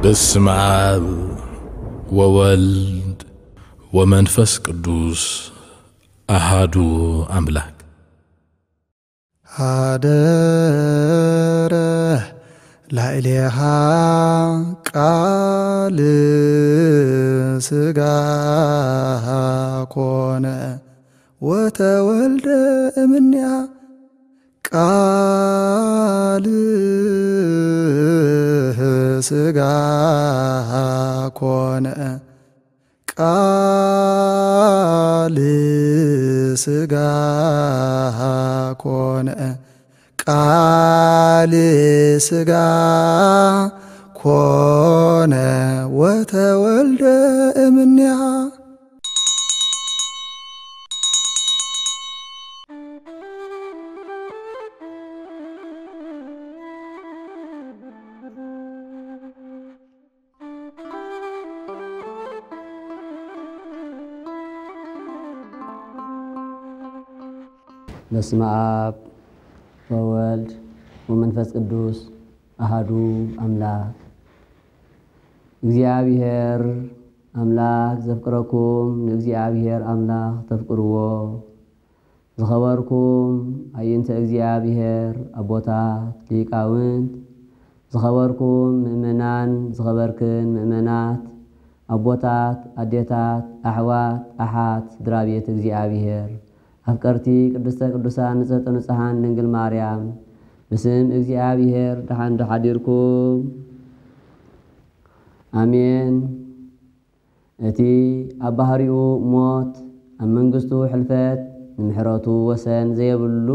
በስመ አብ ወወልድ ወመንፈስ ቅዱስ አሃዱ አምላክ። ሀደረ ላዕሌሃ ቃል ሥጋ ኮነ ወተወልደ እምኔሃ። ቃል ሥጋ ኮነ፣ ቃል ሥጋ ኮነ፣ ቃል ሥጋ ኮነ ወተወልደ እምኔሃ። በስመ አብ ወወልድ ወመንፈስ ቅዱስ አሃዱ አምላክ። እግዚኣብሔር ኣምላክ ዘፍቅረኩም ንእግዚኣብሔር ኣምላክ ተፍቅርዎ። ዝኸበርኩም ኣየንተ እግዚኣብሔር ኣቦታት ሊቃውንት፣ ዝኸበርኩም ምእመናን፣ ዝኸበርክን ምእመናት ኣቦታት፣ ኣዴታት፣ ኣሕዋት፣ ኣሓት፣ ስድራ ቤት እግዚኣብሔር፣ ኣፍቀርቲ ቅድስተ ቅዱሳን ንጽሕተ ንጹሓን ድንግል ማርያም፣ ብስም እግዚኣብሔር ደሓን ዶ ሓዲርኩም? ኣሜን። እቲ ኣብ ባህሪኡ ሞት፣ ኣብ መንግስቱ ሕልፈት፣ ንምሕረቱ ወሰን ዘየብሉ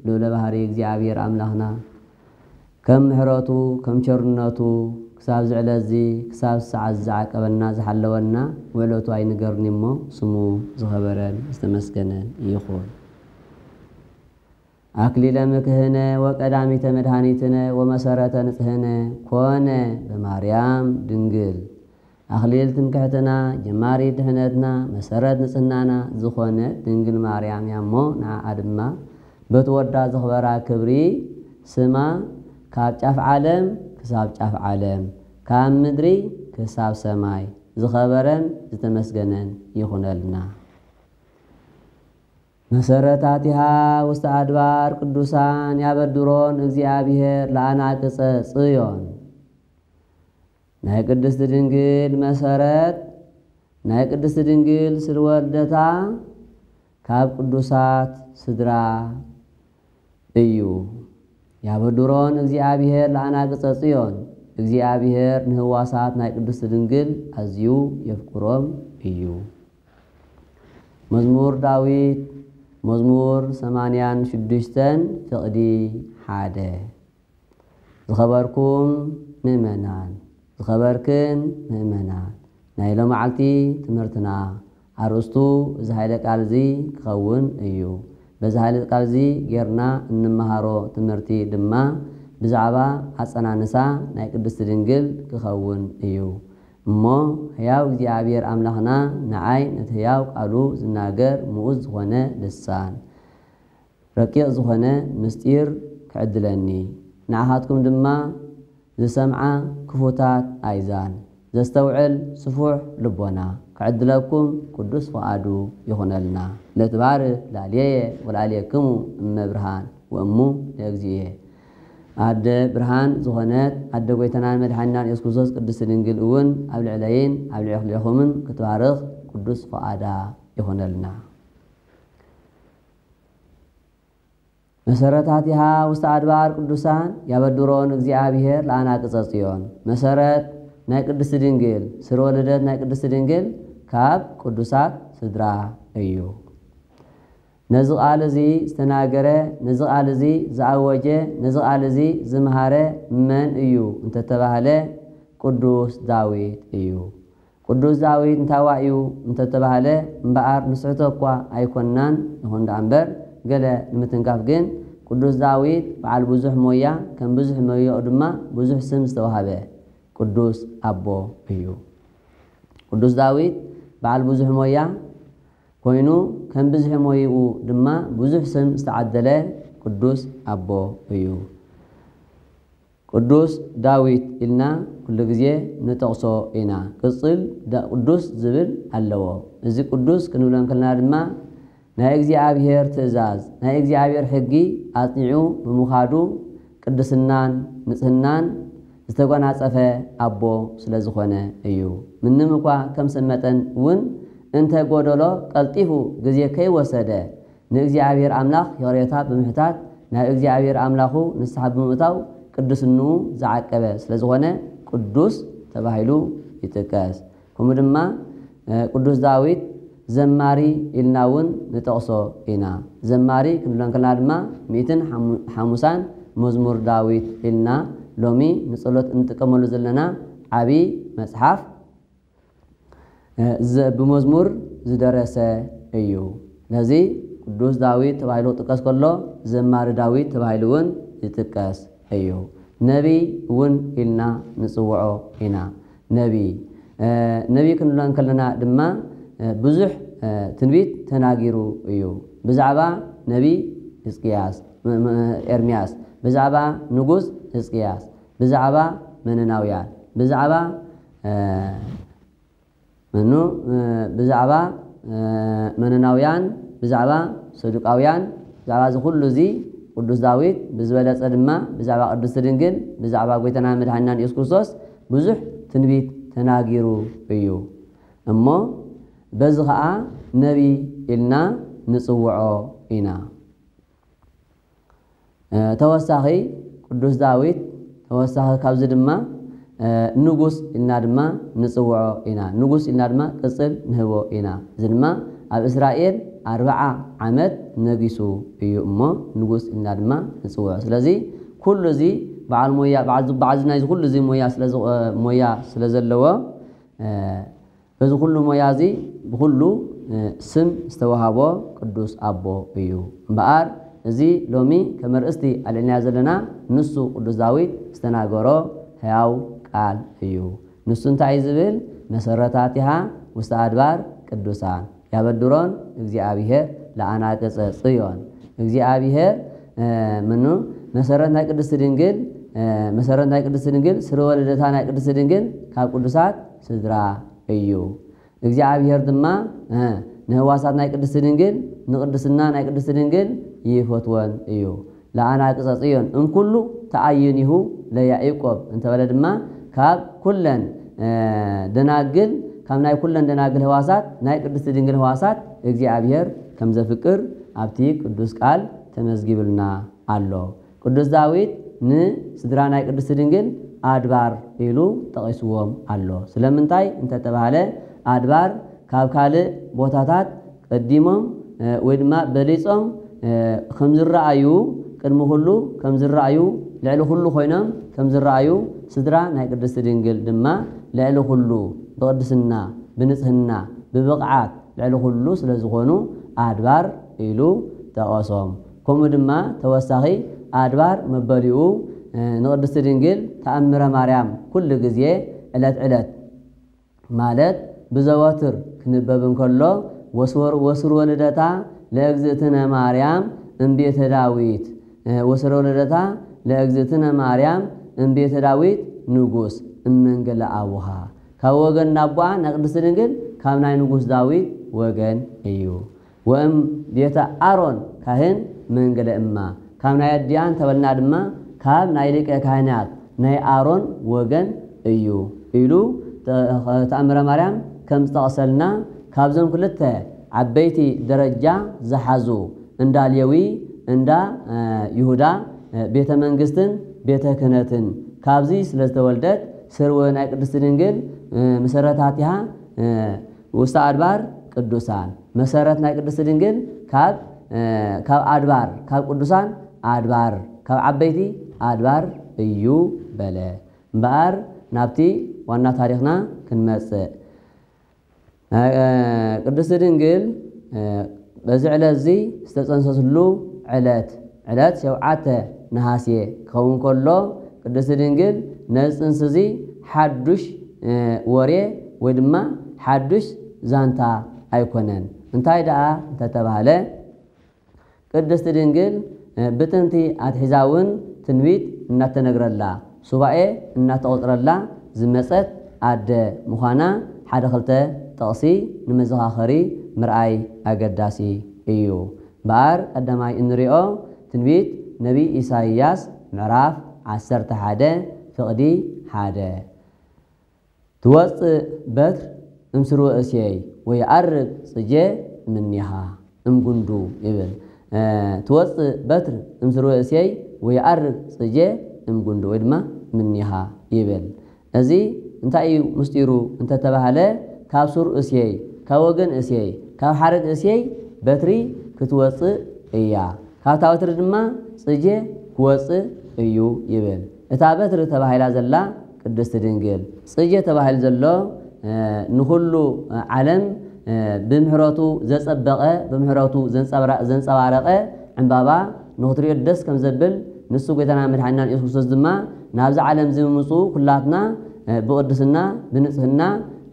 ልዑለ ባህሪ እግዚኣብሔር ኣምላኽና፣ ከም ምሕረቱ፣ ከም ቸርነቱ፣ ክሳብ እዚ ዕለት እዚ፣ ክሳብ ሰዓት እዚ ዝዓቀበና፣ ዝሓለወና፣ ውዕለቱ ኣይንገርኒ እሞ፣ ስሙ ዝኸበረን ዝተመስገነን ይኹን። አክሊለ ምክህነ ወቀዳሚተ መድኃኒትነ ወመሰረተ ንጽህነ ኮነ በማርያም ድንግል። አክሊል ትምክሕትና፣ ጀማሪ ድሕነትና፣ መሰረት ንጽህናና ዝኾነት ድንግል ማርያም እያ እሞ፣ ንዓኣ ድማ በቲ ወዳ ዘኽበራ ክብሪ ስማ ካብ ጫፍ ዓለም ክሳብ ጫፍ ዓለም፣ ካብ ምድሪ ክሳብ ሰማይ ዝኸበረን ዝተመስገነን ይኹነልና። መሰረታቲሃ ውስተ አድባር ቅዱሳን ያበድሮን እግዚኣብሔር ለአናቅጸ ጽዮን። ናይ ቅድስት ድንግል መሰረት፣ ናይ ቅድስት ድንግል ስር ወልደታ ካብ ቅዱሳት ስድራ እዩ። ያበድሮን እግዚኣብሔር ለአናቅጸ ጽዮን። እግዚኣብሔር ንህዋሳት ናይ ቅድስት ድንግል ኣዝዩ የፍቅሮም እዩ። መዝሙር ዳዊት፣ መዝሙር ሰማንያን ሽዱሽተን፣ ፍቕዲ ሓደ። ዝኸበርኩም ምእመናን፣ ዝኸበርክን ምእመናት፣ ናይ ሎመዓልቲ ትምህርትና ኣርእስቱ እዚ ኃይለ ቃል እዚ ክኸውን እዩ። በዚ ኃይለ ቃል እዚ ጌርና እንመሃሮ ትምህርቲ ድማ ብዛዕባ ኣጸናንሳ ናይ ቅድስት ድንግል ክኸውን እዩ። እሞ ሕያው እግዚኣብሔር ኣምላኽና ንዓይ ነቲ ሕያው ቃሉ ዝናገር ምኡዝ ዝኾነ ልሳን፣ ረቂቕ ዝኾነ ምስጢር ክዕድለኒ፣ ንዓኻትኩም ድማ ዝሰምዓ ክፉታት ኣእዛን፣ ዘስተውዕል ስፉሕ ልቦና ክዕድለኩም ቅዱስ ፍቓዱ ይኹነልና። ለትባርክ ላዕሌየ ወላዕሌክሙ እመ ብርሃን ወእሙ ለእግዚእየ። ኣደ ብርሃን ዝኾነት ኣደ ጐይታናን መድሓኒናን የሱስ ክርስቶስ ቅድስቲ ድንግል እውን ኣብ ልዕለይን ኣብ ልዕሌኹምን ክትባርኽ ቅዱስ ፍቓዳ ይኹነልና። መሰረታቲሃ ውስተ ኣድባር ቅዱሳን ያበድሮን እግዚኣብሔር ለአናቅጸ ጽዮን። መሰረት ናይ ቅድስቲ ድንግል፣ ስርወ ልደት ናይ ቅድስቲ ድንግል ካብ ቅዱሳት ስድራ እዩ። ነዚ ቃል እዚ ዝተናገረ፣ ነዚ ቃል እዚ ዝኣወጀ፣ ነዚ ቃል እዚ ዝመሃረ መን እዩ እንተተባህለ፣ ቅዱስ ዳዊት እዩ። ቅዱስ ዳዊት እንታዋይ እዩ እንተተባህለ፣ እምበኣር ንስሕቶ እኳ ኣይኮንናን፣ ይኹን ደኣ እምበር፣ ገለ ንምትንካፍ ግን፣ ቅዱስ ዳዊት በዓል ብዙሕ ሞያ፣ ከም ብዙሕ ሞያኡ ድማ ብዙሕ ስም ዝተዋህበ ቅዱስ ኣቦ እዩ። ቅዱስ ዳዊት በዓል ብዙሕ ሞያ ኮይኑ፣ ከም ብዝሒ ሞይኡ ድማ ብዙሕ ስም ዝተዓደለ ቅዱስ ኣቦ እዩ። ቅዱስ ዳዊት ኢልና ኩሉ ግዜ ንጠቕሶ ኢና። ቅጽል ዳ-፣ ቅዱስ ዝብል ኣለዎ። እዚ ቅዱስ ክንብሎ እንከለና ድማ ናይ እግዚኣብሔር ትእዛዝ፣ ናይ እግዚኣብሔር ሕጊ ኣጽኒዑ ብምዃዱ ቅድስናን ንጽህናን ዝተጎናጸፈ ኣቦ ስለ ዝኾነ እዩ። ምንም እኳ ከም ሰብ መጠን እውን እንተ ጎደሎ ቀልጢፉ ግዜ ከይወሰደ ንእግዚኣብሔር ኣምላኽ ይቕሬታ ብምሕታት ናብ እግዚኣብሔር ኣምላኹ ንስሓ ብምእታው ቅድስንኡ ዝዓቀበ ስለ ዝኾነ ቅዱስ ተባሂሉ ይጥቀስ። ከምኡ ድማ፣ እ፣ ቅዱስ ዳዊት ዘማሪ ኢልና እውን ንጠቕሶ ኢና። ዘማሪ ክንብሎ እንከለና ድማ ሚእትን ሓሙ-፣ ሓሙሳን መዝሙር ዳዊት ኢልና ሎሚ ንጸሎት እንጥቀመሉ ዘለና ዓቢ መጽሓፍ፣ እ፣ ዘ-፣ ብመዝሙር ዝደረሰ እዩ። ስለዚ ቅዱስ ዳዊት ተባሂሉ ክጥቀስ ከሎ ዘማሪ ዳዊት ተባሂሉ እውን ይጥቀስ እዩ። ነቢ እውን ኢልና ንጽውዖ ኢና። ነቢ፣ እ፣ ነቢ ክንብሎ እንከለና ድማ፣ እ፣ ብዙሕ፣ እ፣ ትንቢት ተናጊሩ እዩ። ብዛዕባ ነቢ ህዝቅያስ፣ ም-፣ ም-፣ ኤርምያስ፣ ብዛዕባ ንጉስ ህዝቅያስ፣ ብዛዕባ መነናውያን፣ ብዛዕባ፣ እ፣ መኑ፣ እ፣ ብዛዕባ፣ እ፣ መነናውያን፣ ብዛዕባ ሰዱቃውያን፣ ብዛዕባ እዚ ኩሉ እዚ ቅዱስ ዳዊት ብዝበለጸ ድማ ብዛዕባ ቅድስቲ ድንግል፣ ብዛዕባ ጎይታና መድሓኒናን የሱስ ክርስቶስ ብዙሕ ትንቢት ተናጊሩ እዩ። እሞ በዚ ኸኣ ነቢ ኢልና ንጽውዖ ኢና። እ፣ ተወሳኺ ቅዱስ ዳዊት፣ ተወሳኺ ካብዚ ድማ፣ እ፣ ንጉስ ኢልና ድማ ንጽውዖ ኢና። ንጉስ ኢልና ድማ ቅጽል ንህቦ ኢና። እዚ ድማ ኣብ እስራኤል ኣርብዓ ዓመት ነጊሱ እዩ እሞ ንጉስ ኢልና ድማ ንጽውዖ። ስለዚ ኩሉ እዚ በዓል ሞያ፣ በዓል፣ በዓል ዝናይ እዚ ኩሉ እዚ ሞያ ስለ ዝ-፣ ሞያ ስለ ዘለዎ፣ እ፣ በዚ ኩሉ ሞያ እዚ ብኩሉ፣ እ፣ ስም ዝተዋሃቦ ቅዱስ ኣቦ እዩ። እምበኣር እዚ ሎሚ ከም ኣርእስቲ ኣልዒልናዮ ዘለና ንሱ ቅዱስ ዳዊት ዝተናገሮ ሕያው ቃል እዩ። ንሱ እንታይ እዩ ዝብል? መሰረታቲሃ ውስተ ኣድባር ቅዱሳን ያበድሮን እግዚኣብሔር ለአናቅጸ ጽዮን። እግዚኣብሔር፣ እ፣ ምኑ መሰረት ናይ ቅድስቲ ድንግል፣ እ፣ መሰረት ናይ ቅድስቲ ድንግል፣ ስርወ ልደታ ናይ ቅድስቲ ድንግል ካብ ቅዱሳት ስድራ እዩ። እግዚኣብሔር ድማ፣ እ፣ ንህዋሳት ናይ ቅድስቲ ድንግል፣ ንቅድስና ናይ ቅድስቲ ድንግል ይፈትወን እዩ። ለአናቅጸ ጽዮን እምኩሉ ተአይኒሁ ለያዕቆብ እንተበለ ድማ ካብ ኩለን፣ እ፣ ደናግል፣ ካብ ናይ ኩለን ደናግል ህዋሳት ናይ ቅድስቲ ድንግል ህዋሳት እግዚኣብሔር ከም ዘፍቅር ኣብቲ ቅዱስ ቃል ተመዝጊብልና ኣሎ። ቅዱስ ዳዊት ንስድራ ናይ ቅድስቲ ድንግል ኣድባር ኢሉ ጠቒስዎም ኣሎ። ስለምንታይ እንተተባህለ ኣድባር ካብ ካልእ ቦታታት ቀዲሞም፣ እ፣ ወይ ድማ በሊጾም፣ እ፣ ከም ዝረኣዩ፣ ቅድሚ ኩሉ ከም ዝረኣዩ፣ ልዕሊ ኩሉ ኮይኖም ከም ዝረኣዩ፣ ስድራ ናይ ቅድስቲ ድንግል ድማ ልዕሊ ኩሉ ብቅድስና፣ ብንጽህና፣ ብብቕዓት ልዕሊ ኩሉ ስለ ዝኾኑ ኣድባር ኢሉ ጠቐሶም። ከምኡ ድማ ተወሳኺ ኣድባር መበሊኡ፣ እ፣ ንቅድስቲ ድንግል ተኣምረ ማርያም ኩሉ ግዜ ዕለት ዕለት ማለት ብዘወትር ክንበብ እንከሎ ወስወር-፣ ወስርወ ልደታ ለእግዝእትነ ማርያም እምቤተ ዳዊት፣ እ፣ ወስርወ ልደታ ለእግዝእትነ ማርያም እምቤተ ዳዊት ንጉስ እመንገለ ኣቡሃ። ካብ ወገን ናቦኣ ናይ ቅድስቲ ድንግል ካብ ናይ ንጉስ ዳዊት ወገን እዩ። ወእም ቤተ ኣሮን ካህን መንገለ እማ፣ ካብ ናይ ኣዲኣ እንተበልና ድማ ካብ ናይ ሊቀ ካህናት ናይ ኣሮን ወገን እዩ ኢሉ ተ-፣ ተኣምረ ማርያም ከም ዝጠቕሰልና ካብዞም ክልተ ዓበይቲ ደረጃ ዝሓዙ እንዳ ሌዊ፣ እንዳ፣ እ፣ ይሁዳ፣ እ፣ ቤተ መንግስትን ቤተ ክህነትን ካብዚ ስለ ዝተወልደት ስርወ ናይ ቅድስቲ ድንግል፣ እ፣ መሰረታቲሃ፣ እ፣ ውስተ ኣድባር ቅዱሳን፣ መሰረት ናይ ቅድስቲ ድንግል ካብ፣ እ፣ ካብ ኣድባር፣ ካብ ቅዱሳን ኣድባር፣ ካብ ዓበይቲ ኣድባር እዩ በለ። እምበኣር ናብቲ ዋና ታሪኽና ክንመጽእ። እ፣ ቅድስቲ ድንግል፣ እ፣ በዚ ዕለት እዚ ዝተጸንሰትሉ ዕለት፣ ዕለት ሸውዓተ ነሃሴ ክኸውን ከሎ፣ ቅድስቲ ድንግል ነዚ ጽንሲ እዚ ሓዱሽ፣ እ፣ ወሬ ወይ ድማ ሓዱሽ ዛንታ ኣይኮነን። እንታይ ደኣ እንተተባህለ፣ ቅድስቲ ድንግል፣ እ፣ ብጥንቲ ኣትሒዛ እውን ትንቢት እናተነግረላ፣ ሱባኤ እናተቖጽረላ ዝመጸት ኣደ ምዃና ሓደ ክልተ ጥቕሲ ንመዘኻኸሪ ምርኣይ ኣገዳሲ እዩ። እምበኣር ቀዳማይ እንሪኦ ትንቢት ነቢይ ኢሳይያስ ምዕራፍ ዓሰርተ ሓደ ፍቕዲ ሓደ። ትወፅእ በትር እምስርወ እሴይ ወይዓርግ ጽጄ እምኔኻ እምጉንዱ ይብል። ትወፅእ በትር እምስርወ እሴይ ወይዓርግ ጽጄ እምጉንዱ ወይ ድማ እምኔኻ ይብል። እዚ እንታይ እዩ ምስጢሩ እንተተባህለ፣ ካብ ሱር እሴይ፣ ካብ ወገን እሴይ፣ ካብ ሓረግ እሴይ በትሪ ክትወፅእ እያ። ካብታ በትሪ ድማ ጽጄ ክወጽእ እዩ ይብል። እታ በትሪ ተባሂላ ዘላ ቅድስቲ ድንግል፣ ጽጄ ተባሂሉ ዘሎ ንኹሉ ዓለም ብምሕረቱ ዘጸበቐ፣ ብምሕረቱ ዘንጸባረቐ ዕምባባ ንኽትሪኦ ደስ ከም ዘብል፣ ንሱ ጎይታና መድሓኒና ኢየሱስ ክርስቶስ ድማ ናብዚ ዓለም እዚ ምምፅኡ ኩላትና ብቕድስና ብንጽህና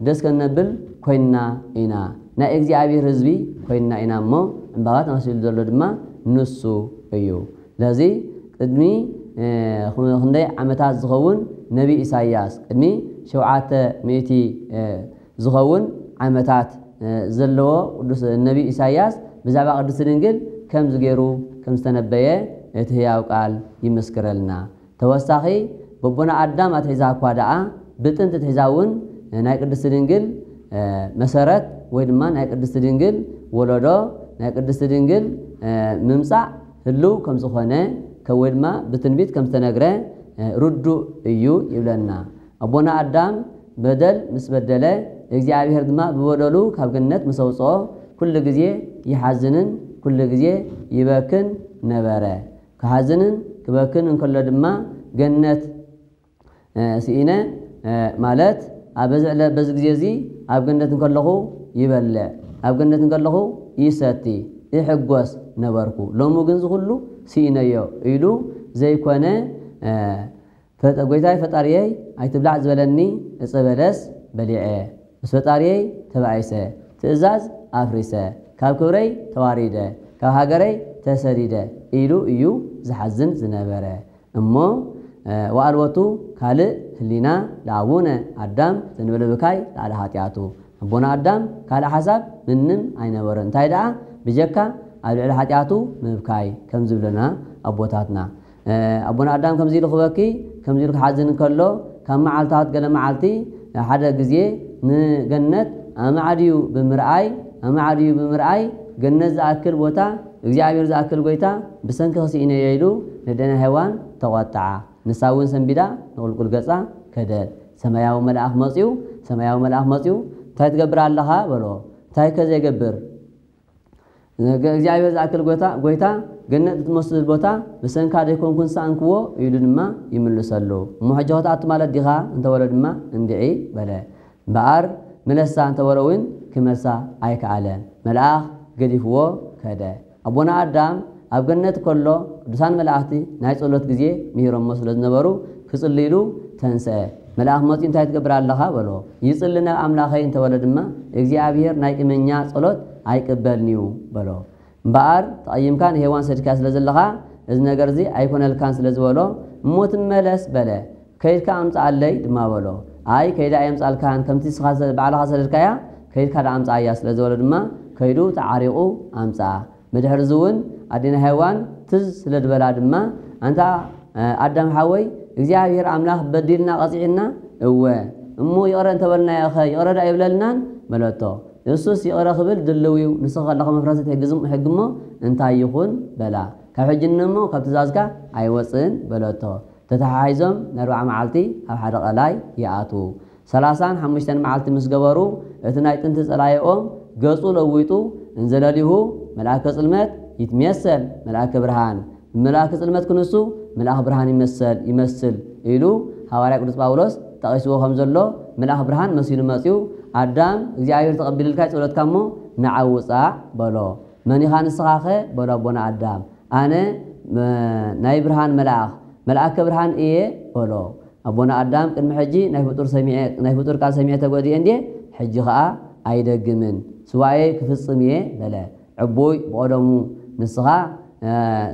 ደስ ከነብል ኮይንና ኢና። ናይ እግዚኣብሔር ህዝቢ ኮይንና ኢና እሞ ዕምባባ ተመሲሉ ዘሎ ድማ ንሱ እዩ። ስለዚ ቅድሚ ክንደይ ዓመታት ዝኸውን ነቢ ኢሳያስ ቅድሚ ሸውዓተ ሚእቲ ዝኸውን ዓመታት ዘለዎ ቅዱስ ነቢ ኢሳያስ ብዛዕባ ቅድስቲ ድንግል ከምዚ ገይሩ ከም ዝተነበየ እቲ ህያው ቃል ይምስክረልና። ተወሳኺ በቦና ኣዳም ኣትሒዛ እኳ ደኣ ብጥንቲ ትሒዛ እውን ናይ ቅድስቲ ድንግል መሰረት ወይ ድማ ናይ ቅድስቲ ድንግል ወለዶ ናይ ቅድስቲ ድንግል ምምፃእ ህልው ከም ዝኾነ ወይ ድማ ብትንቢት ከም ዝተነግረ ርዱእ እዩ ይብለና። ኣቦና ኣዳም በደል ምስ በደለ እግዚኣብሔር ድማ ብበደሉ ካብ ገነት ምስ ኣውፅኦ ኩሉ ግዜ ይሓዝንን ኩሉ ግዜ ይበክን ነበረ። ክሓዝንን ክበክን እንከሎ ድማ ገነት ስኢነ ማለት ኣብ በዚ ዕለ በዚ ግዜ እዚ ኣብ ገነት እንከለኹ ይበልዕ፣ ኣብ ገነት እንከለኹ ይሰቲ፣ ይሕጎስ ነበርኩ። ሎሚ ግን ዝኹሉ ስኢነዮ ኢሉ ዘይኮነ ጎይታይ ፈጣሪየይ ኣይትብላዕ ዝበለኒ እፀ በለስ በሊዐ፣ ምስ ፈጣሪየይ ተባኢሰ፣ ትእዛዝ ኣፍሪሰ፣ ካብ ክብረይ ተዋሪደ፣ ካብ ሃገረይ ተሰዲደ ኢሉ እዩ ዝሓዝን ዝነበረ። እሞ ወኣልቦቱ ካልእ ህሊና ለኣቡነ ኣዳም ዘንበለ ብካይ ላዕሊ ሓጢኣቱ። ኣቦና ኣዳም ካልእ ሓሳብ ምንም ኣይነበሮ። እንታይ ደኣ ብጀካ ኣብ ልዕሊ ሓጢኣቱ ምብካይ ከም ዝብለና ኣቦታትና። ኣቦና ኣዳም ከምዚ ኢሉ ክበኪ ከምዚ ኢሉ ክሓዝን ከሎ ካብ መዓልታት ገለ መዓልቲ ሓደ ግዜ ንገነት ኣማዕድዩ ብምርኣይ ኣማዕድዩ ብምርኣይ ገነት ዝኣክል ቦታ እግዚኣብሔር ዝኣክል ጎይታ ብሰንኪ ክስኢነዮ ኢሉ ንደና ሄዋን ተቖጥዓ። ንሳ እውን ሰንቢዳ ንቁልቁል ገጻ ከደት። ሰማያዊ መልኣኽ መጺኡ ሰማያዊ መልኣኽ መጺኡ እንታይ ትገብር ኣለኻ በሎ። እንታይ ከ ዘይገብር እግዚኣብሔር ዝኣክል ጎይታ ጎይታ ገነት እትመስል ቦታ ብሰንካ ደይኮንኩ ንስኣንክዎ ኢሉ ድማ ይምልሰሉ። እሞ ሕጂ ክትኣቱ ማለት ዲኻ እንተበሎ ድማ እንድዒ በለ። እምበኣር ምለሳ እንተበሎ እውን ክመልሳ ኣይከኣለን። መልኣኽ ገዲፍዎ ከደ። ኣቦና ኣዳም ኣብ ገነት ከሎ ቅዱሳን መላእኽቲ ናይ ጸሎት ግዜ ምሂሮሞ ስለ ዝነበሩ ክጽልይሉ ተንስአ። መልኣኽ መጺኡ እንታይ ትገብር ኣለኻ በሎ። ይጽሊ ናብ ኣምላኸይ እንተበሎ ድማ እግዚኣብሔር ናይ ቂመኛ ጸሎት ኣይቅበልንዩ በሎ። እምበኣር ተቐይምካ ንሄዋን ሰድካ ስለ ዘለኻ እዚ ነገር እዚ ኣይኮነልካን ስለ ዝበሎ እሞ ትመለስ በለ። ከይድካ ኣምፅኣለይ ድማ በሎ። ኣይ ከይዳ ኣየምፃልካን ከምቲ ስኻ ባዕልኻ ሰደድካያ ከይድካ ዳ ኣምፅኣያ ስለ ዝበሎ ድማ ከይዱ ተዓሪቑ ኣምፅኣ። ብድሕሪ እዚ እውን ኣዴና ሄዋን ትዝ ስለ ዝበላ ድማ ኣንታ ኣዳም ሓወይ እግዚኣብሔር ኣምላኽ በዲልና ቀፂዕና እወ እሞ ይቕረ እንተበልናዮ ኸ ይቕረ ዳ ይብለልናን በለቶ። ንሱስ ይቕረ ክብል ድልው እዩ ንስኻ ከለኻ መፍረሰት ሕጊ እሞ እንታይ ይኹን በላ። ካብ ሕጂ እሞ ካብ ትእዛዝካ ኣይወፅእን በለቶ። ተተሓሒዞም ንኣርብዓ መዓልቲ ኣብ ሓደ ቀላይ ይኣትዉ። ሰላሳን ሓሙሽተን መዓልቲ ምስ ገበሩ እቲ ናይ ጥንቲ ጸላኢኦም ገጹ ለዊጡ እንዘለሊሁ መልኣከ ጽልመት ይትሜሰል መልኣከ ብርሃን ብመልኣከ ጽልመት ክንሱ መልኣኽ ብርሃን ይመሰል ይመስል ኢሉ ሃዋርያ ቅዱስ ጳውሎስ ጠቒስዎ ከም ዘሎ መልኣኽ ብርሃን መሲሉ መጺኡ ኣዳም እግዚኣብሔር ተቐቢልልካ ጸሎትካ እሞ ንዓው ውጻእ በሎ። መን ኢኻ ንስኻኸ በሎ ኣቦና ኣዳም። ኣነ ናይ ብርሃን መልኣኽ መልኣከ ብርሃን እየ በሎ። ኣቦና ኣዳም ቅድሚ ሕጂ ናይ ፍጡር ሰሚዐ ናይ ፍጡር ቃል ሰሚዐ ተጎዲኤ እንዴ ሕጂ ኸኣ ኣይደግምን ስዋኤ ክፍጽም እየ በለ። ዕቡይ ብቐደሙ ንስኻ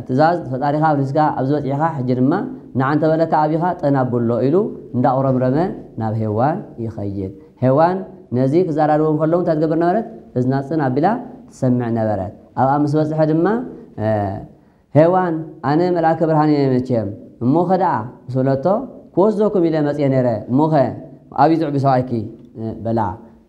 ትእዛዝ ፈጣሪኻ ኣብሪስካ ኣብዚ በፂሕኻ፣ ሕጂ ድማ ንዓ እንተበለካ ኣቢኻ ጠን ኣብሎ ኢሉ እንዳቑረምረመ ናብ ሄዋን ይኸይድ። ሄዋን ነዚ ክዘራረቡ ከለዉ እንታይ ትገብር ነበረት? እዝና ጽን ኣቢላ ትሰምዕ ነበረት። ኣብኣ ምስ በጽሐ ድማ ሄዋን፣ ኣነ መልኣከ ብርሃን እየ መቸም፣ እሞኸ ደኣ ምስ በለቶ፣ ክወስደኩም ኢለ መጽየ ነይረ፣ እሞኸ ኣብዩ ዝዕቢ ሰብኣይኪ በላ።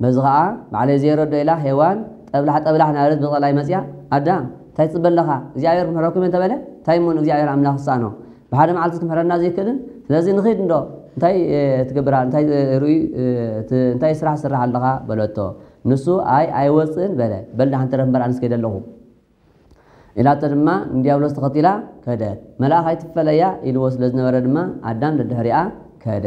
በዚ ኸዓ ባዕለይ ዘየረዶ ኢላ ሄዋን ጠብላሕ ጠብላሕ ናበለት ብቐላይ መጽያ፣ ኣዳም እንታይ ትጽበ ኣለኻ? እግዚኣብሔር ክምሕረኩም እየ እንተበለ እንታይ እሞ ንእግዚኣብሔር ኣምላኽ ዝሰኣኖ? ብሓደ መዓልቲ ክምሕረና ዘይክእልን? ስለዚ ንኺድ እንዶ እንታይ ትገብራ እንታይ ርእዩ እንታይ ስራሕ ስራሕ ኣለኻ በለቶ። ንሱ ኣይ ኣይወፅእን በለ። በል ደሓን ተረፍ እምበር ኣነስ ከይደ ኣለኹ ኢላቶ ድማ ንዲያብሎስ ተኸቲላ ከደት። መልኣኽ ኣይትፈለያ ኢልዎ ስለ ዝነበረ ድማ ኣዳም ደድሕሪኣ ከደ።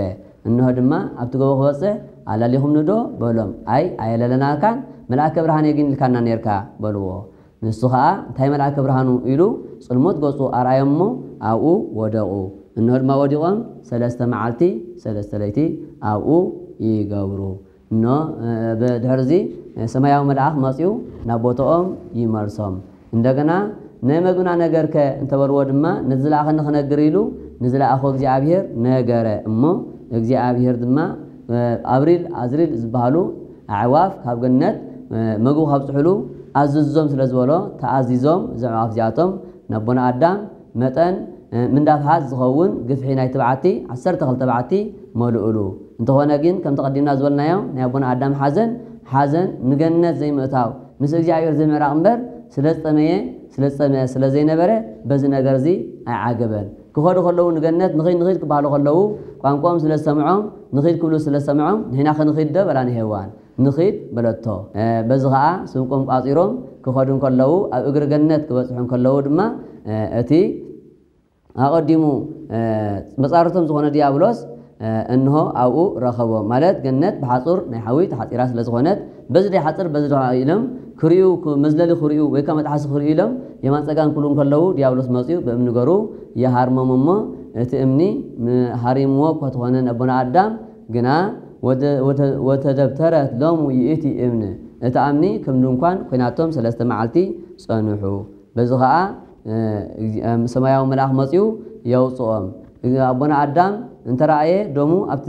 እንሆ ድማ ኣብቲ ጎቦ ክበጽሕ ኣላሊኹምኒ ዶ በሎም። ኣይ ኣየለለናካን፣ መልኣከ ብርሃን እየ ግን ኢልካና ኔርካ በልዎ። ንሱ ኸኣ እንታይ መልኣከ ብርሃኑ ኢሉ ጽልሞት ገጹ ኣርኣዮም እሞ ኣብኡ ወደቑ። እንሆ ድማ ወዲቖም ሰለስተ መዓልቲ ሰለስተ ለይቲ ኣብኡ ይገብሩ። እኖ ብድሕርዚ ሰማያዊ መልኣኽ መጺኡ ናብ ቦታኦም ይመልሶም። እንደገና ናይ መግብና ነገርከ እንተበልዎ ድማ ንዝለኣኸኒ ክነግር ኢሉ ንዝለኣኾ እግዚኣብሔር ነገረ እሞ እግዚኣብሔር ድማ ኣብሪል ኣዝሪል ዝበሃሉ ኣዕዋፍ ካብ ገነት መግቡ ካብፅሕሉ ኣዝዞም ስለ ዝበሎ ተኣዚዞም እዞም ኣዕዋፍ እዚኣቶም ነቦና ኣዳም መጠን ምንዳፍሓት ዝኸውን ግፍሒ ናይ ተባዕቲ ዓሰርተ ክልተ ባዕቲ መልኡሉ። እንተኾነ ግን ከምቲ ቀዲምና ዝበልናዮ ናይ ኣቦና ኣዳም ሓዘን ሓዘን ንገነት ዘይምእታው ምስ እግዚኣብሔር ዘይምዕራቕ እምበር ስለ ዝጠመየ ስለ ዝጠመየ ስለ ዘይነበረ በዚ ነገር እዚ ኣይዓገበን። ክኸዱ ከለዉ ንገነት ንኺድ ንኺድ ክበሃሉ ከለዉ ቋንቋኦም ስለ ዝሰምዖም ንኺድ ክብሉ ስለ ዝሰምዖም ንሕና ክንኺድ ዶ በላ ንሄዋን። ንኺድ በለቶ። በዚ ኸዓ ስንቆም ቋጺሮም ክኸዱ እንከለዉ ኣብ እግሪ ገነት ክበጽሑ እንከለዉ ድማ እቲ ኣቐዲሙ መጻርቶም ዝኾነ ዲያብሎስ እንሆ ኣብኡ ረኸቦም። ማለት ገነት ብሓጹር ናይ ሓዊ ተሓጺራ ስለ ዝኾነት በዚ ደይ ሓጽር በዚ ዶ ኢሎም ክርእዩ መዝለሊ ክርእዩ ወይ ከዓ መጥሓሲ ክርእዩ ኢሎም የማን ጸጋም ክብሉ እንከለዉ ዲያብሎስ መጺኡ ብእምኒ ገሩ ይሃርሞም እሞ እቲ እምኒ ሃሪምዎ እኳ ተኾነ ነቦና ኣዳም ግና ወተደብተረት ሎሙ ይእቲ እምኒ እታ እምኒ ከም ድንኳን ኮይናቶም ሰለስተ መዓልቲ ጸንሑ። በዚ ኸዓ ሰማያዊ መልኣኽ መጺኡ የውፅኦም። ኣቦና ኣዳም እንተረኣየ ደሙ ኣብቲ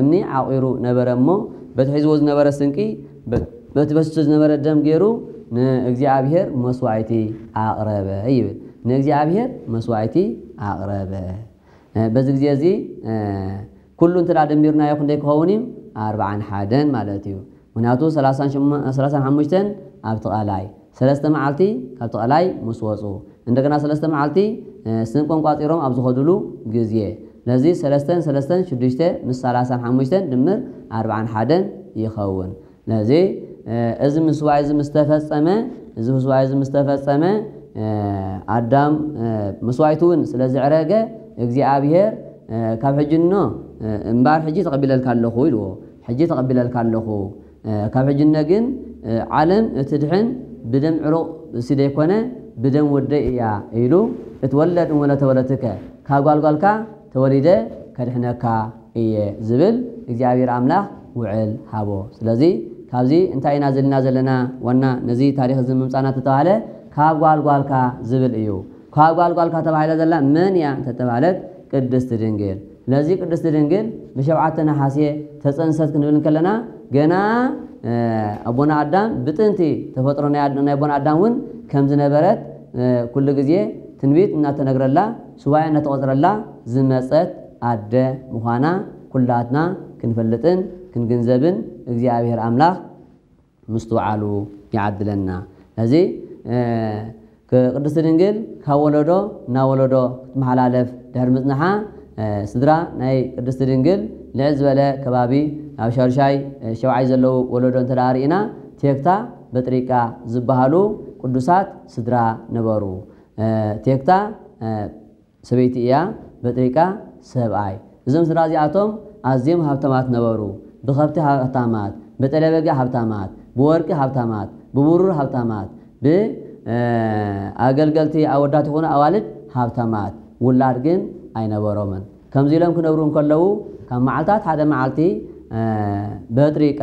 እምኒ ዓቑሩ ነበረ እሞ በቲ ሒዝዎ ዝነበረ ስንቂ በቲ በስሱ ዝነበረ ደም ገይሩ ንእግዚኣብሔር መስዋዕቲ ኣቕረበ ይብል። ንእግዚኣብሔር መስዋዕቲ ኣቕረበ። በዚ ግዜ እዚ ኩሉ እንተ ደሚርናዮ ክንደይ ክኸውን እዩ? ኣርብዓን ሓደን ማለት እዩ። ምክንያቱ ሰላሳን ሓሙሽተን ኣብቲ ቐላይ ሰለስተ መዓልቲ ካብቲ ቐላይ ምስ ወፁ እንደገና ሰለስተ መዓልቲ ስንቆም ቋፂሮም ኣብ ዝኸዱሉ ግዜ ነዚ ሰለስተን ሰለስተን ሽዱሽተ ምስ ሰላሳን ሓሙሽተን ድምር ኣርብዓን ሓደን ይኸውን። ነዚ እዚ ምስዋይ እዚ ምስተፈጸመ እዚ ምስዋይ እዚ ምስተፈጸመ ኣዳም መስዋይቱ እውን ስለ ዝዕረገ እግዚኣብሔር ካብ ሕጂ እኖ እምባር ሕጂ ተቐቢለልካ ኣለኹ ኢልዎ። ሕጂ ተቐቢለልካ ኣለኹ ካብ ሕጂ እኖ ግን ዓለም እቲ ድሕን ብደም ዕሩቕ እሲ ዘይኮነ ብደም ወደይ እያ ኢሉ እትወለድ እምወለተወለትከ ካብ ጓልጓልካ ተወሊደ ከድሕነካ እየ ዝብል እግዚኣብሔር ኣምላኽ ውዕል ሃቦ። ስለዚ ካብዚ እንታይ ኢና ዘለና ዘለና ዋና ነዚ ታሪኽ እዚ ምምፃና ተተባሃለ ካብ ጓልጓልካ ዝብል እዩ። ካብ ጓልጓልካ ተባሂላ ዘላ መን እያ እንተተባህለት ቅድስቲ ድንግል። ስለዚ ቅድስቲ ድንግል ብሸውዓተ ነሓሴ ተፀንሰት ክንብል እንከለና ገና ኣቦና ኣዳም ብጥንቲ ተፈጥሮ ናይ ኣቦና ኣዳም እውን ከም ዝነበረት ኩሉ ግዜ ትንቢት እናተነግረላ ሱባኤ እናተቆፅረላ ዝመፀት ኣደ ምዃና ኩላትና ክንፈልጥን ክንግንዘብን እግዚኣብሔር ኣምላኽ ምስትውዓሉ ይዓድለና። እዚ ቅድስቲ ድንግል ካብ ወለዶ ናብ ወለዶ ክትመሓላለፍ ድሕሪ ምፅንሓ ስድራ ናይ ቅድስቲ ድንግል ልዕል ዝበለ ከባቢ ኣብ ሻርሻይ ሸውዓይ ዘለዉ ወለዶ እንተ ርኢና ቴክታ በጥሪቃ ዝበሃሉ ቅዱሳት ስድራ ነበሩ። ቴክታ ሰበይቲ እያ፣ በጥሪቃ ሰብኣይ። እዞም ስድራ እዚኣቶም ኣዝዮም ሃብታማት ነበሩ። ብኸብቲ ሃብታማት፣ ብጠለበጊ ሃብታማት፣ ብወርቂ ሃብታማት፣ ብብሩር ሃብታማት፣ ብኣገልገልቲ ኣወዳት ይኹኑ ኣዋልድ ሃብታማት፣ ውላድ ግን ኣይነበሮምን። ከምዚ ኢሎም ክነብሩ እንከለዉ ካብ መዓልታት ሓደ መዓልቲ በጥሪቃ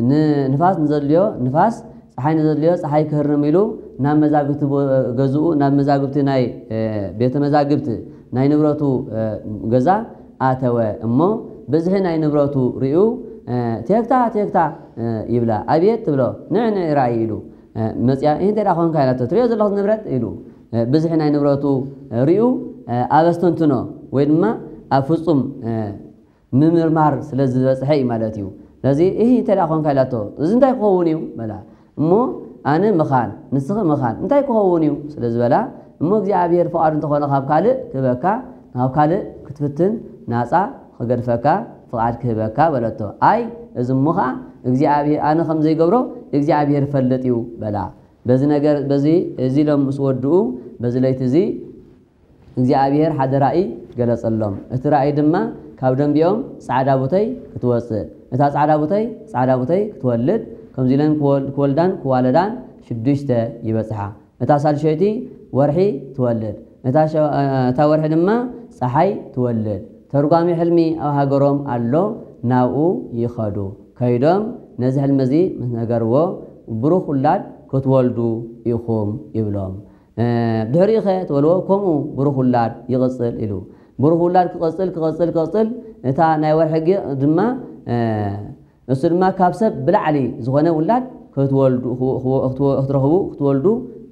ንንፋስ ንዘድልዮ ንፋስ ፀሓይ ንዘድልዮ ፀሓይ ክህርም ኢሉ ናብ መዛግብቲ ቦ-፣ ገዝኡ፣ ናብ መዛግብቲ ናይ፣ እ፣ ቤተ መዛግብቲ ናይ ንብረቱ፣ እ፣ ገዛ ኣተወ። እሞ ብዝሒ ናይ ንብረቱ ርእዩ፣ እ፣ "ቴክታ፣ ቴክታ!" እ፣ ይብላ። "ኣቤት!" ትብሎ። "ንዕ፣ ንዕ ርኣይ!" ኢሉ፣ እ፣ መፅያ፣ "ይህ እንታይ ደኣ ኾንካ?" ኢላቶ። "ትሪኦ ዘለኹ ንብረት!" ኢሉ፣ እ፣ ብዝሒ ናይ ንብረቱ ርእዩ፣ እ፣ ኣብ ኣስተንትኖ ወይ ድማ ኣብ ፍጹም፣ እ፣ ምምርማር ስለ ዝበጽሐ እዩ ማለት እዩ። ስለዚ፣ "እሂ፣ እንተ ደኣ ኾንካ?" ኢላቶ። "እዚ እንታይ ክኸውን እዩ?" በላ። እሞ፣ "ኣነ ምኻን፣ ንስኺ ምኻን፣ እንታይ ክኸውን እዩ?" ስለ ዝበላ፣ እሞ፣ "እግዚኣብሔር ፍቓዱ እንተኾነ፣ ካብ ካልእ ክህበካ፣ ካብ ካልእ ክትፍትን ናጻ ክገድፈካ ፍቓድ ክህበካ" በለቶ። "ኣይ፣ እዚ እሞ ኸዓ እግዚኣብሔር፣ ኣነ ከም ዘይገብሮ እግዚኣብሔር ይፈልጥ እዩ" በላ። በዚ ነገር፣ በዚ፣ እዚ ኢሎም ምስ ወድኡ፣ በዚ ለይቲ እዚ እግዚኣብሔር ሓደ ራእይ ገለጸሎም። እቲ ራእይ ድማ፣ ካብ ደንቢኦም ጻዕዳ ቡተይ ክትወጽእ፣ እታ ጻዕዳ ቡተይ ጻዕዳ ቡተይ ክትወልድ፣ ከምዚ ኢለን ክወል-፣ ክወልዳን ክዋለዳን ሽዱሽተ ይበጽሓ። እታ ሳልሸይቲ ወርሒ ትወልድ፣ እታ ሸ-፣ እታ ወርሒ ድማ ጸሓይ ትወልድ። ተርጓሚ ሕልሚ ኣብ ሃገሮም ኣሎ፣ ናብኡ ይኸዱ። ከይዶም ነዚ ሕልሚ እዚ ምስ ነገርዎ፣ "ብሩኽ ውላድ ክትወልዱ ኢኹም" ይብሎም። እ፣ ብድሕሪኡ ኸ ትበልዎ፣ ከምኡ ብሩኽ ውላድ ይቕጽል ኢሉ። ብሩኽ ውላድ ክቕጽል፣ ክቕጽል፣ ክቕጽል፣ እታ ናይ ወርሒ ግ-፣ ድማ፣ እ፣ እሱ ድማ ካብ ሰብ ብላዕሊ ዝኾነ ውላድ ክትወልዱ፣ ክወ-፣ ክወ-፣ ክትወ-፣ ክትረኽቡ፣ ክትወልዱ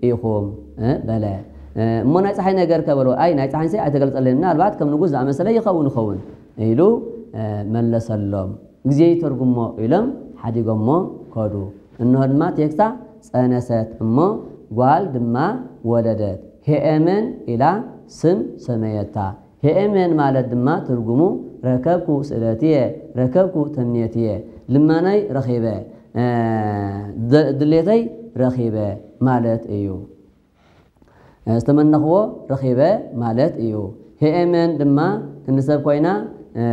ኢኹም፣ እ፣ በለ። እ፣ እሞ ናይ ጸሓይ ነገር ከ በልዎ፣ ኣይ፣ ናይ ጸሓይንሰ ኣይተገልጸለይን፣ ምናልባት ከም ንጉስ ዝኣመሰለ ይኸውን፣ ይኸውን ኢሉ፣ እ፣ መለሰሎም። "ግዜ ይተርጉሞ" ኢሎም ሓዲጎሞ ከዱ። እንሆ ድማ ቴክታ ጸነሰት እሞ ጓል ድማ ወለደት። ሄኤመን ኢላ ስም ሰመየታ። ሄኤመን ማለት ድማ ትርጉሙ "ረከብኩ ስእለትየ፣ ረከብኩ ተምኔትየ፣ ልመናይ ረኺበ፣ እ፣ ድ-፣ ድሌተይ ረኺበ" ማለት እዩ። እ፣ ዝተመነኽዎ ረኺበ ማለት እዩ። ሄኤመን ድማ ክንዲ ሰብ ኮይና፣ እ፣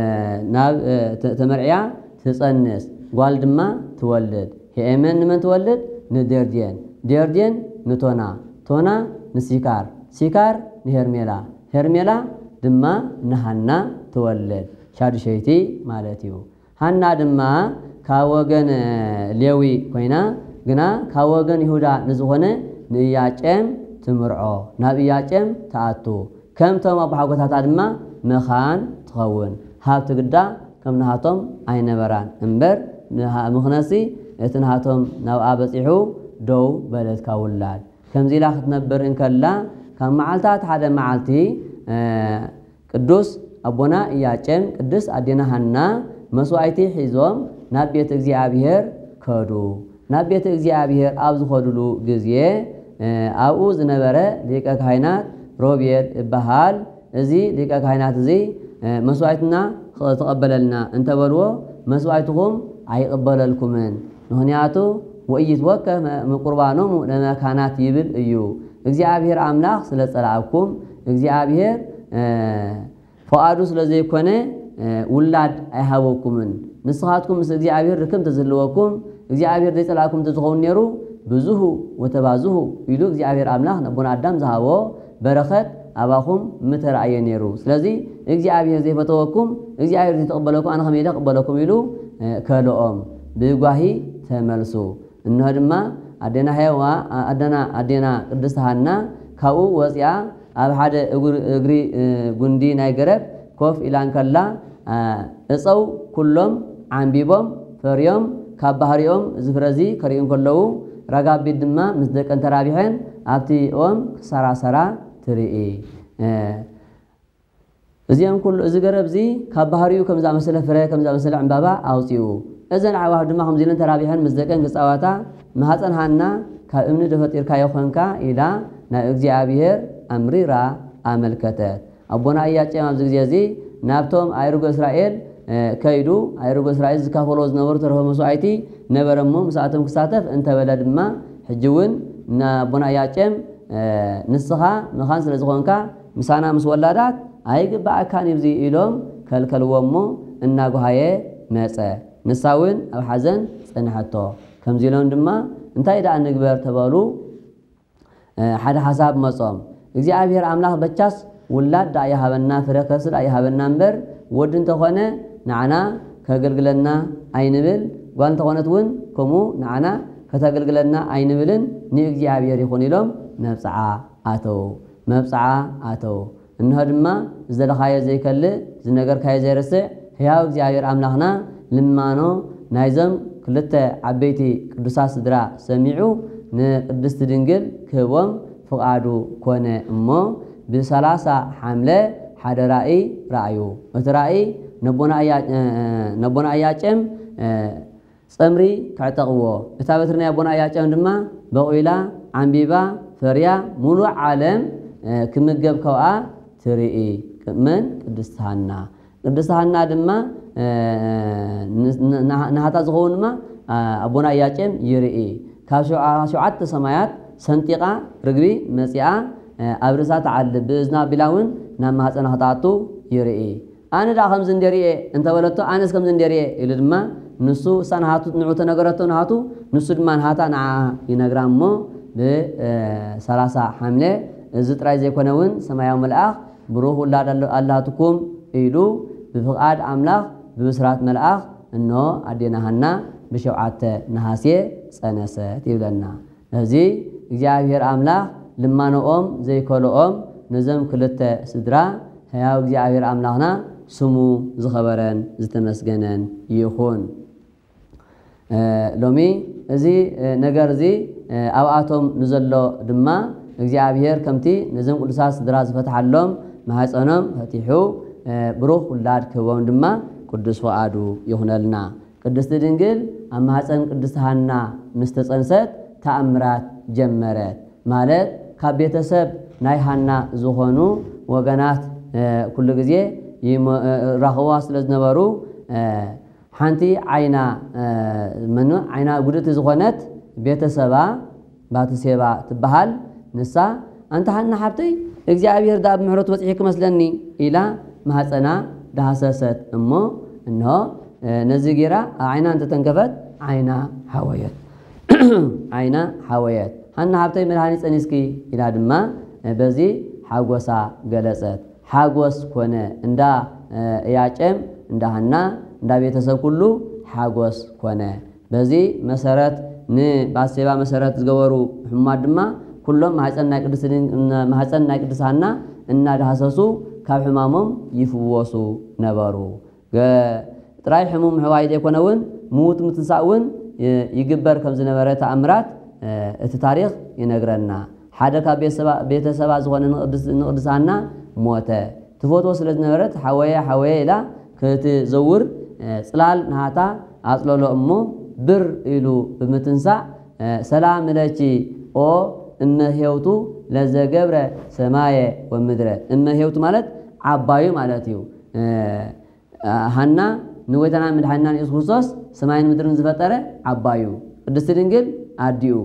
ናብ፣ እ፣ ተ-፣ ተመርዕያ ትጸንስ፣ ጓል ድማ ትወልድ። ሄኤመን ንመን ትወልድ? ንዴርዴን። ዴርዴን ንቶና። ቶና ንሲካር። ሲካር ንሄርሜላ። ሄርሜላ ድማ ንሃና ትወልድ። ሻዱሸይቲ ማለት እዩ። ሃና ድማ ካብ ወገን ሌዊ ኮይና፣ ግና ካብ ወገን ይሁዳ ንዝኾነ ንኢያቄም ትምርዖ፣ ናብ ኢያቄም ትኣቱ። ከምቶም ኣቦሓጎታታ ድማ መኻን ትኸውን። ሃብቲ ግዳ ከም ናሃቶም ኣይነበራን እምበር፣ ንሃ-፣ ምኽነሲ እቲ ናሃቶም ናብኣ በጺሑ ደው በለት ካብ ውላድ። ከምዚ ኢላ ክትነብር እንከላ፣ ካብ መዓልታት ሓደ መዓልቲ፣ እ፣ ቅዱስ ኣቦና ኢያቄም፣ ቅድስት ኣዴና ሃና መስዋዕቲ ሒዞም ናብ ቤት እግዚኣብሔር ከዱ። ናብ ቤት እግዚኣብሔር ኣብ ዝኸዱሉ ግዜ፣ እ፣ ኣብኡ ዝነበረ ሊቀ ካህናት ሮቤል እበሃል። እዚ ሊቀ ካህናት እዚ፣ እ፣ መስዋዕትና ክተቐበለልና እንተበልዎ፣ መስዋዕትኹም ኣይቕበለልኩምን፣ ምኽንያቱ "ወኢይትወከፍ ቁርባኖሙ ለመካናት" ይብል እዩ። እግዚኣብሔር ኣምላኽ ስለ ጸላእኩም፣ እግዚኣብሔር፣ እ፣ ፍቓዱ ስለ ዘይኮነ፣ እ፣ ውላድ ኣይሃበኩምን። ንስኻትኩም ምስ እግዚኣብሔር ርክብ እንተዝህልወኩም፣ እግዚኣብሔር ዘይጸላእኩም እንተዝኸውን ነይሩ፣ "ብዙሁ ወተባዝሁ" ኢሉ እግዚኣብሔር ኣምላኽ ነቦና ኣዳም ዝሃቦ በረኸት ኣባኹም ምተራእየ ነይሩ። ስለዚ እግዚኣብሔር ዘይፈተወኩም፣ እግዚኣብሔር ዘይተቐበለኩም፣ ኣነ ከመይ ኢለ ክቕበለኩም ኢሉ፣ እ፣ ከልኦም። ብጓሂ ተመልሱ። እንሆ ድማ ኣዴና ሄዋ-፣ ኣደና፣ ኣዴና ቅድስት ሃና ካብኡ ወፂኣ ኣብ ሓደ እግሪ፣ እግሪ፣ እ፣ ጉንዲ ናይ ገረብ ኮፍ ኢላ እንከላ፣ እ፣ እፀው ኩሎም ዓንቢቦም ፈርዮም፣ ካብ ባህሪኦም እዚ ፍረ እዚ ከርእዩ እንከለዉ፣ ረጋቢት ድማ ምስ ደቀን ተራቢሐን ኣብቲ ኦም ክሰራሰራ ትርኢ። እ፣ እዚኦም ኩሉ፣ እዚ ገረብ እዚ ካብ ባህሪኡ ከም ዝኣመሰለ ፍረ፣ ከም ዝኣመሰለ ዕምባባ ኣውፂኡ። እዘን ኣዕዋፍ ድማ ከምዚ ኢለን ተራቢሐን ምስ ደቀን ክፃወታ፣ ማህፀን ሃና ካብ እምኒ ዶ ፈጢርካዮ ኾንካ? ኢላ ናብ እግዚኣብሔር ኣምሪራ ኣመልከተት። ኣቦና ኢያቄም ኣብዚ ግዜ እዚ ናብቶም ኣእሩገ እስራኤል፣ እ፣ ከይዱ፣ ኣእሩገ እስራኤል ዝካፈሎ ዝነበሩ ተረፈ መስዋዕቲ ነበረ እሞ፣ ምስኣቶም ክሳተፍ እንተበለ ድማ፣ ሕጂ እውን ንኣቦና ኢያቄም፣ እ፣ "ንስኻ መኻን ስለ ዝኾንካ፣ ምሳና ምስ ወላዳት ኣይግባኣካን እዩ እዚ" ኢሎም ከልከልዎ እሞ፣ እናጓሃየ መጸ። ንሳ እውን ኣብ ሓዘን ጸንሐቶ። ከምዚ ኢሎም ድማ፣ "እንታይ ደኣ ንግበር?" ተበሉ። እ፣ ሓደ ሓሳብ መጾም። እግዚኣብሔር ኣምላኽ በቻስ ውላድ ደኣ ይሃበና፣ ፍረ ከርሲ ደኣ ይሃበና እምበር፣ ወዲ እንተኾነ ንዓና ከገልግለና ኣይንብል፣ ጓል እንተኾነት እውን ከምኡ ንዓና ከተገልግለና ኣይንብልን፣ ንእግዚኣብሔር ይኹን ኢሎም መብጽዓ ኣተዉ። መብጽዓ ኣተዉ። እንሆ ድማ ዝደለኻዮ ዘይከልእ፣ ዝነገርካዮ ዘይርስዕ፣ ሕያው እግዚኣብሔር ኣምላኽና ልማኖ ናይዞም ክልተ ዓበይቲ ቅዱሳት ስድራ ሰሚዑ ንቅድስቲ ድንግል ክህቦም ፍቓዱ ኮነ። እሞ ብሰላሳ ሓምለ ሓደ ራእይ ረኣዩ። እቲ ራእይ ነቦና እያ-፣ ነቦና እያቄም ጸምሪ ከዕጠቕዎ፣ እታ በትሪ ናይ ኣቦና እያቄም ድማ በቑላ፣ ዓምቢባ፣ ፈርያ፣ ሙሉእ ዓለም፣ እ፣ ክምገብ ካብኣ ትርኢ። መን? ቅድስቲ ሃና። ቅድስቲ ሃና ድማ፣ እ፣ ን-፣ ን-፣ ንሃ-፣ ንሃታ ዝኸውን ድማ፣ እ፣ ኣቦና እያቄም ይርኢ። ካብ ሸውዓ-፣ ሸውዓተ ሰማያት ሰንጢቓ ርግቢ መጺኣ፣ እ፣ ኣብ ርእሳ ትዓልብ፣ ብእዝና ኣቢላ እውን ናብ ማህፀና ክትኣቱ ይርኢ። ኣነ ደኣ ከምዚ እንደ ርእየ እንተበለቶ፣ ኣነስ ከምዚ እንደ ርእየ ኢሉ ድማ ንሱ፣ እሳ ንሃቱ፣ ንዑ ተነገረቶ ንሃቱ፣ ንሱ ድማ ንሃታ ንዓ ይነግራ። እሞ ብ-፣ እ፣ ሰላሳ ሓምለ፣ እዚ ጥራይ ዘይኮነ እውን ሰማያዊ መልኣኽ ብሩኽ ውላድ ኣሎ-፣ ኣላትኩም ኢሉ ብፍቓድ ኣምላኽ ብብስራት መልኣኽ እንሆ ኣዴና ሃና ብሸውዓተ ነሃሴ ጸነሰት ይብለና። ነዚ እግዚኣብሔር ኣምላኽ ልማኖኦም ዘይከልኦም ነዞም ክልተ ስድራ ሕያው እግዚኣብሔር ኣምላኽና ስሙ ዝኸበረን ዝተመስገነን ይኹን። እ፣ ሎሚ እዚ፣ እ፣ ነገር እዚ፣ እ፣ ኣብኣቶም ንዘሎ ድማ እግዚኣብሔር ከምቲ ነዞም ቅዱሳት ስድራ ዝፈትሓሎም ማህፀኖም ፈቲሑ፣ እ፣ ብሩኽ ውላድ ክህቦም ድማ ቅዱስ ፍቓዱ ይኹነልና። ቅድስቲ ድንግል ኣብ ማህፀን ቅድስቲ ሃና ምስ ተፀንሰት ተኣምራት ጀመረት። ማለት ካብ ቤተሰብ ናይ ሃና ዝኾኑ ወገናት፣ እ፣ ኩሉ ግዜ ይመ-፣ እ፣ ራኽዋ ስለ ዝነበሩ፣ እ፣ ሓንቲ ዓይና፣ እ፣ መኑ ዓይና ጉድእቲ ዝኾነት ቤተሰባ ባትሴባ ትበሃል። ንሳ፣ "ኣንቲ ሃና ሓብተይ፣ እግዚኣብሔር ደኣ ብምሕረቱ በጺሑ ክመስለኒ" ኢላ ማህፀና ዳህሰሰት። እሞ እንሆ፣ እ፣ ነዚ ጌራ ኣብ ዓይና እንተተንከፈት ዓይና ሓወየት። ዓይና ሓወየት። "ሃና ሓብተይ መድሃኒት ጸኒስኪ" ኢላ ድማ፣ እ፣ በዚ ሓጎሳ ገለጸት። ሓጎስ ኮነ። እንዳ፣ እ፣ እያቄም፣ እንዳ ሃና፣ እንዳ ቤተሰብ ኩሉ ሓጎስ ኮነ። በዚ መሰረት ንባሴባ መሰረት ዝገበሩ ሕሙማት ድማ ኩሎም ማህፀን ናይ ቅድስቲ ድን-፣ ማህፀን ናይ ቅድስቲ ሃና እናዳህሰሱ ካብ ሕማሞም ይፍወሱ ነበሩ። ገ-፣ ጥራይ ሕሙም ምሕዋይ ዘይኮነ እውን ምዉት ምትንሳእ እውን ይ-፣ ይግበር ከም ዝነበረ ተኣምራት፣ እ፣ እቲ ታሪኽ ይነግረና። ሓደ ካብ ቤተሰባ፣ ቤተሰባ ዝኾነ ንቅድስ-፣ ንቅድስቲ ሃና ሞተ። ትፈትዎ ስለ ዝነበረት፣ "ሓወየ፣ ሓወየ" ኢላ ክትዘውር፣ እ፣ ጽላል ናሃታ ኣጽለሎ እሞ ብር ኢሉ ብምትንሳእ፣ እ፣ "ሰላም ለኪ ኦ እመ ኄውቱ ለዘገብረ ሰማየ ወምድረ።" እመ ኄውቱ ማለት ዓባዩ ማለት እዩ። እ፣ ሃና ንጎይታና መድሓኒናን የሱስ ክርስቶስ ሰማይን ምድርን ዝፈጠረ ዓባዩ፣ ቅድስቲ ድንግል ኣዲኡ፣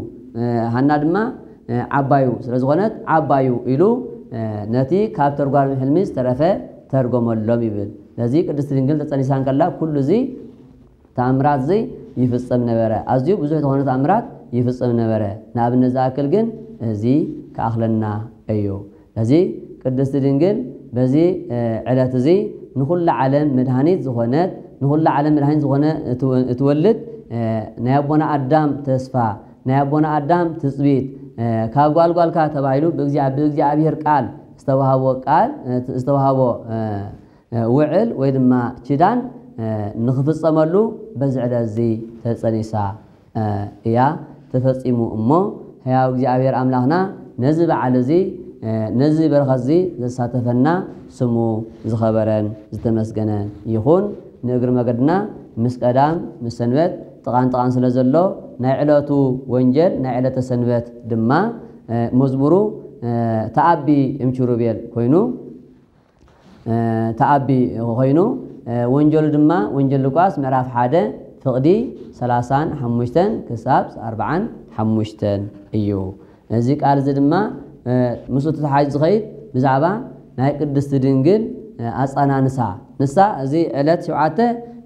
ሃና ድማ ዓባዩ ስለ ዝኾነት ዓባዩ ኢሉ ነቲ ካብ ተርጓሚ ሕልሚ ዝተረፈ ተርጎመሎም ይብል። ስለዚ ቅድስቲ ድንግል ተጸኒሳ እንከላ ኩሉ እዚ ተኣምራት እዚ ይፍጸም ነበረ። ኣዝዩ ብዙሕ ዝኾነ ተኣምራት ይፍጸም ነበረ። ንኣብነት ዝኣክል ግን እዚ ክኣኽለና እዩ። ስለዚ ቅድስቲ ድንግል በዚ፣ እ፣ ዕለት እዚ ንኹላ ዓለም መድሃኒት ዝኾነት፣ ንኹላ ዓለም መድሃኒት ዝኾነ እትወ-፣ እትወልድ፣ እ፣ ናይ ኣቦና ኣዳም ተስፋ፣ ናይ ኣቦና ኣዳም ትጽቢት፣ እ፣ ካብ ጓል ጓልካ ተባሂሉ ብእግዚኣ-፣ ብእግዚኣብሔር ቃል ዝተዋህቦ ቃል፣ እ፣ ዝተዋህቦ፣ እ፣ እ፣ ውዕል ወይ ድማ ኪዳን፣ እ፣ ንኽፍጸመሉ በዚ ዕለት እዚ ተጸኒሳ፣ እ፣ እያ ተፈጺሙ። እሞ ሕያው እግዚኣብሔር ኣምላኽና ነዚ በዓል እዚ፣ እ፣ ነዚ በረኸት እዚ ዘሳተፈና ስሙ ዝኸበረን ዝተመስገነ ይኹን። ንእግሪ መገድና ምስ ቀዳም ምስ ሰንበት ጥቓን ጥቓን ስለ ዘሎ ናይ ዕለቱ ወንጌል ናይ ዕለተ ሰንበት ድማ፣ እ፣ መዝሙሩ፣ እ፣ ተኣቢ እምኪሩቤል ኮይኑ፣ እ፣ ተኣቢ ኮይኑ፣ እ፣ ወንጀሉ ድማ ወንጀል ሉቃስ ምዕራፍ ሓደ ፍቕዲ ሰላሳን ሓሙሽተን ክሳብ ኣርብዓን ሓሙሽተን እዩ። እዚ ቃል እዚ ድማ፣ እ፣ ምስኡ ተተሓሒዙ ዝኸይድ ብዛዕባ ናይ ቅድስቲ ድንግል፣ እ፣ ኣጸናንሳ። ንሳ እዚ ዕለት ሸውዓተ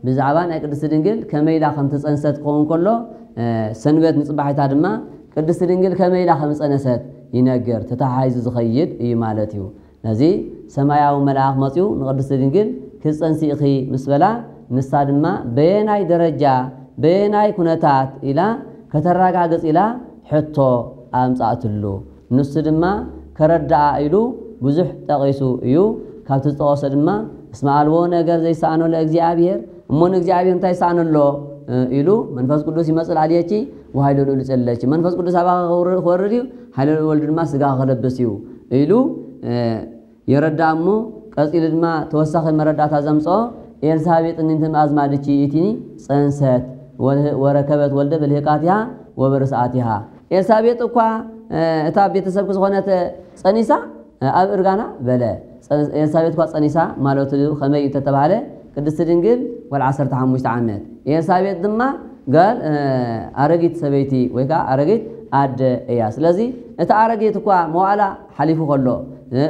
ብዛዕባ ናይ ቅድስቲ ድንግል ከመይ ኢላ ከም ተጸንሰት ክኸውን ከሎ፣ እ፣ ሰንበት ንጽባሒታ ድማ ቅድስቲ ድንግል ከመይ ኢላ ከም ዝጸነሰት ይነግር፣ ተተሓሒዙ ዝኸይድ እዩ ማለት እዩ። ነዚ ሰማያዊ መልኣኽ መጺኡ ንቅድስቲ ድንግል ክትጸንሲ ኢኺ ምስ በላ፣ ንሳ ድማ በየናይ ደረጃ፣ በየናይ ኩነታት ኢላ ከተረጋግጽ ኢላ ሕቶ ኣምጻእትሉ። ንሱ ድማ ከረድኣ ኢሉ ብዙሕ ጠቒሱ እዩ። ካብቲ ዝጠቐሶ ድማ እስመ ኣልቦ ነገር ዘይሰኣኖ ለእግዚኣብሔር፣ እሞ ንእግዚኣብሔር እንታይ ይሰኣኖ ኣሎ ኢሉ መንፈስ ቅዱስ ይመጽእ ላዕልየኪ ወሃይለ ልዑል ይጸለኪ። መንፈስ ቅዱስ ኣባኻ ክወርድ እዩ፣ ሃይለ ልዑል ወልድ ድማ ስጋ ክለብስ እዩ ኢሉ የረዳ እሞ ቀጺሉ ድማ ተወሳኺ መረዳእታ ዘምጽኦ ኤልሳቤጥ እኒንትን ኣዝማድኪ ኢቲኒ ጸንሰት ወረከበት ወልደ ብልህቃቲሃ ወበርስኣቲሃ። ኤልሳቤጥ እኳ እታ ቤተሰብኪ ዝኾነት ጸኒሳ ኣብ እርጋና በለ። ኤልሳቤጥ እኳ ጸኒሳ ማለቱ ከመይ እዩ እንተተባህለ ቅድስቲ ድንግል ጓል ዓሰርተ ሓሙሽተ ዓመት፣ ኤልሳቤጥ ድማ ጋል ኣረጊት ሰበይቲ ወይ ከዓ ኣረጊት ኣደ እያ። ስለዚ እቲ ኣረጊት እኳ መዋዕላ ሓሊፉ ከሎ